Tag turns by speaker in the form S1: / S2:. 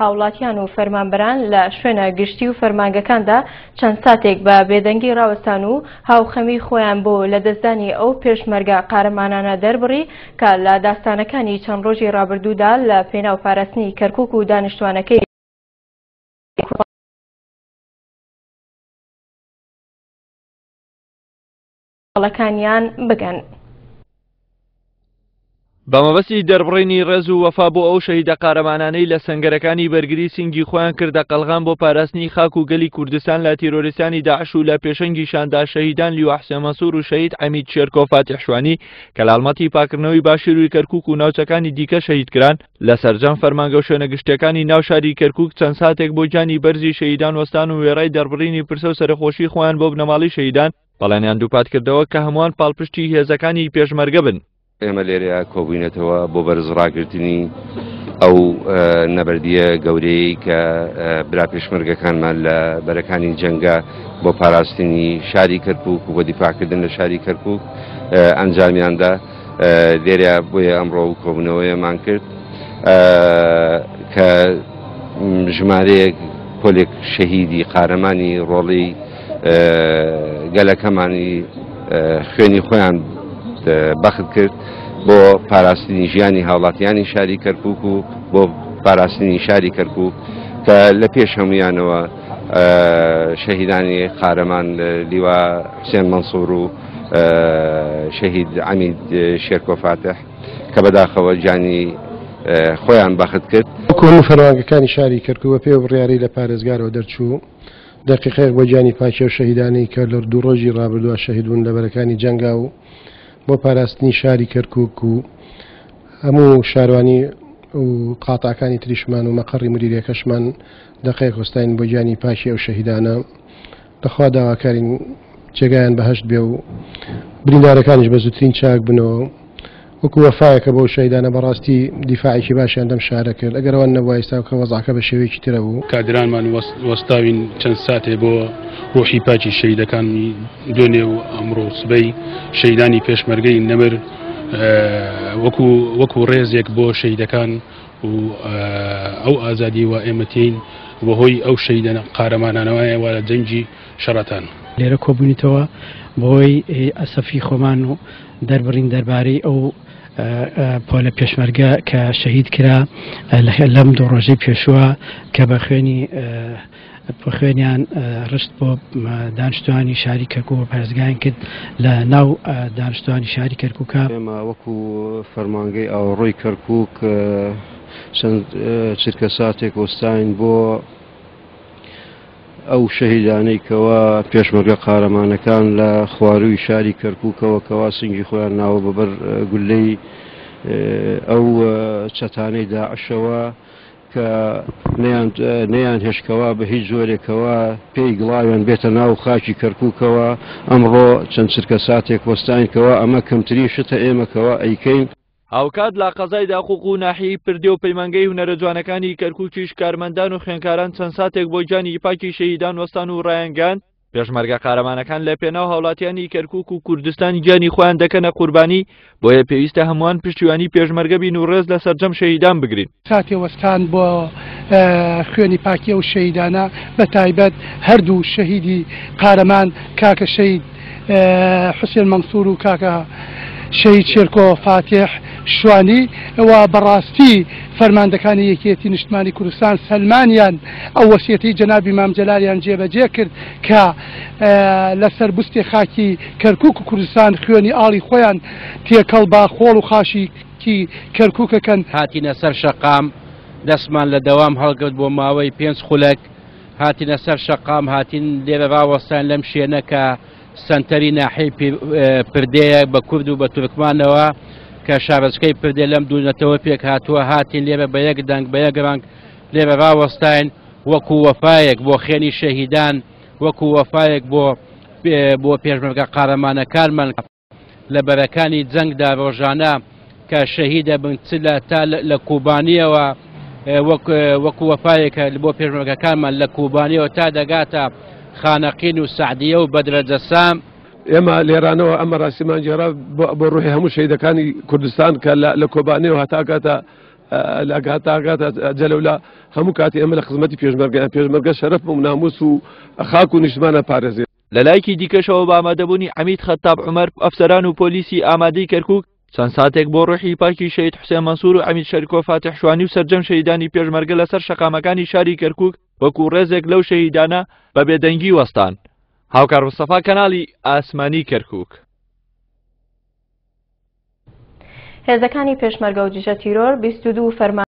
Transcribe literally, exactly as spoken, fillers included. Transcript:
S1: هاوڵاتیان و فەرمانبەران لە شوێنە گشتی و فەرمانگەکاندا چەند ساتێک بە بێدەنگی ڕاوەستان و هاوخەمی خۆیان بۆ لەدەستدانی ئەو پێشمەرگە قارەمانانە دەربڕی کە لە داستانەکانی چەند ڕۆژی ڕابردوودا لە پێناو پاراستنی کەرکوک و دانیشتوانەکەی ەکانیان بگەن.
S2: بە مەبەستی دەربڕینی ڕێز و وەفا بۆ ئەو شەهیدە قارەمانانەی لە سەنگەرەکانی بەرگری سنگی خۆیان کردە قەلغان بۆ پاراستنی خاک و گەلی کوردستان لە تیرۆریستانی داعش و لە پێشەنگیشاندا شەهیدان لیوا حسێن مەنسوور و شەهید عەمید شێرکۆ فاتیح شوانی کە لە هەڵمەتی پاکردنەوەی باشووری کەرکوک و ناوچەکانی دیکە شەهید کران، لە سەرجەم فەرمانگە و شوێنە گشتیەکانی ناو شاری کەرکوک چەند ساتێک بۆ گیانی بەرزی شەهیدان وەستان و وێڕای دەربڕینی پرسە و سەرخۆشی خۆیان بۆ بنەماڵەی شەهیدان بەڵێنیان دووپات کردەوە کە هەمووان پاڵپشتی هێزەکانی پێشمەرگە بن.
S3: ئێمە لێرەیە کۆبووینەتەوە بۆ بەرز ڕاگرتنی ئەو نەبەردیە گەورەیە کە برا پێشمەرگەکانمان لە بەرەکانی جەنگە بۆ پاراستنی شاری کەرکوک و بۆ دیفاعکردن لە شاری کەرکوک ئەنجامیاندا. لێرە بۆیە ئەمڕۆ کۆبوونەوەیەمان کرد کە ژمارەیەک پۆلێک شەهیدی قارەمانی ڕۆڵی گەلەکەمانی خوێنی خۆیان بەخت کرد بۆ پاراستنی ژیانی هاوڵاتیانی شاری کەرکوک و بۆ پاراستنی شاری کەرکوک کە لە پێش هەمویانەوە شەهیدانی قارەمان لیوا حسێن مەنسوور و شەهید عەمید شێرکۆ فاتح کە بەداخەوە گیانی خۆیان بەخت کرد.
S4: وەکو هەموو فەرمانگەکانی شاری کەرکوک بە پێ بڕیاری لە پارێزگارەوە دەرچوو دقیقەیەک بۆ گیانی پاکی و شەهیدانی کە لە دوو ڕۆژی ڕابردووە شەهید بوون لە بەرەکانی جەنگا و بۆ پاراستنی شاری کەرکوک و هەموو شاروانی و قاتاکانی تریشمان و مەقەڕی مدیریەکەشمان دقەیەک وەستاین بۆ گیانی پاکی ئەو شەهیدانە. لەخوا داواکارین جێگایان بەهەشت بێ و بریندارەکانیش بە زووترین چاک بنەوە. وەکو وەفایەکە بۆ شەهیدانە بەڕاستی دیفاعێکی باشیان دەم شارە کرد، ئەگەر ئەوان نەبووە ئێستا کە وەزعەکە بە شێوەیەکی ترە بوو.
S5: کادرانمان وەستاوین چەند ساتێ بۆ ڕۆحی پاکی شەهیدەکانی دوێنێ و ئەمڕۆ سبەی شەهیدانی پێشمەرگەی نەمر وەکو وەکو ڕێزێک بۆ شەهیدەکان و ئەو ئازادی و ئێمە تێین بەهۆی ئەو شەهیدە قارەمانانەوە لە جەنگی شەڕەتان.
S6: لێرە کۆبوونیتەوە بۆی ئەسەفی خۆمان و دەربڕین دەربارەی ئەو پۆلە پێشمەرگە کە شەهید کرا لەم دوو ڕۆژەی پێشووە کە بە خوێنی خوێنیان ڕشت بۆ دانیشتوانی شاری کەرکوک و پارێزگایان کرد لە ناو دانیشتوانی شاری کەرکوکە.
S7: ئێمە وەکو فەرمانگەی ئاوەڕۆی کەرکوک چەند چرکە ساتێک وەستاین بۆ ئەو شەهیدانەی کەوا پێشمەرگە قارەمانەکان لە خوارووی شاری کەرکوکەوە کەوا سنگی خۆیان ناوە بەبەر گولەی ئەو چەتانەی داعشەوە کە نەیان هێشکەوە بە هیچ جۆرێکەوە پێی گڵاویان بێتە ناو خاکی کەرکوکەوە. ئەمڕۆ چەند چرکە ساتێک وەستاینکەوە ئەمە کەمترین شتە ئێمەکەوە ئەیکەین.
S2: هاوکات لە قەزای داقوق و ناحیەی پردێ و پەیمانگەی هونەرە جوانەکانی کەرکوکیش کارمەندان و خوێندکاران چەند ساتێک بۆ گیانی پاکی شەهیدان وەستان و ڕایانگەیاند پێشمەرگە قارەمانەکان لە پێناو هاوڵاتیانی کەرکوک و کوردستان گیانی خۆیان دەکەنە قوربانی، بۆیە پێویستە هەمووان پشتیوانی پێشمەرگە بین و ڕێز لە سەرجەم شەهیدان بگرین.
S8: ساتێ وەستان بۆ خوێنی پاکی ئەو شەهیدانە بە تایبەت هەردوو شەهیدی قارەمان کاکە شەهید حسێن مەنسوور و کاکە شەهید شێرکۆ فاتیح شوانی و بەڕاستی فەرماندەکانی یەکێتی نیشتمانی کوردستان سەلمانیان ئەو وەسیەتی جەنابی مام جەلالیان جێبەجێ کرد کە لەسەر بستی خاکی کەرکوک و کوردستان خوێنی ئاڵی خۆیان تێکەڵ بە خۆڵ و خاشی کەرکوکەکەن.
S9: هاتینە سەر شەقام، دەستمان لە دەوام هەڵگرت بۆ ماوەی پێنج خولەک. هاتینە سەر شەقام، هاتین لێرە ڕاوەستان لەم شوێنە کە سەنتەری ناحیەی پردەیە بە کورد و بە تورکمانەوە کە شارۆچکەی پردێ لەم دوونەتەوە پێک هاتووە. هاتین لێرە بە یەک دەنگ بە یەک ڕەنگ لێرە ڕاوەستاین وەکو وەفایەک بۆ خوێنی شەهیدان، وەکو وەفایەک بۆ بۆ پێشمەرگە قارەمانەکانمان لە بەرەکانی جەنگدا ڕۆژانە کە شەهیدە بن چ لە تا لە کوبانیەوە وەکو وەفایەکە بۆ پێشمەرگەکانمان لە کوبانیەوە تا دەگاتە خانەقین و سعدیە و بەدرەجەسام.
S10: ئێمە لێرانەوە ئەمە ڕاستیمان گێڕا بۆ ڕوحی هەموو شەهیدەکانی کوردستان کە لە کۆبانیەوە هەتاکاتە لە جەلەولا هەموو کاتی ئێمە لە خزمەتی پێشمەرگە پێشمەرگە شەرەف و ناموس و خاک و نیشتمانە پارێزێ.
S2: لە لایەکی دیکەشەوە بە ئامادەبوونی عەمید خەتاب عومەر ئەفسەران و پۆلیسی ئامادەی کەرکوک چەند ساتێک بۆ ڕۆحی پاکی شەهید حوسێن مەنسوور و عەمید شەرکۆ فاتح شوانی و سەرجەم شەهیدانی پێشمەرگە لەسەر شەقامەکانی شاری کەرکوک وەکو ڕێزێک لەو شەهیدانە بە بێدەنگی وەستان. هاوکار مستەفا، کەناڵی ئاسمانی کەرکوک.
S1: هێزەکانی پێشمەرگە و دژە تیرۆر بیست و دوو فەرمان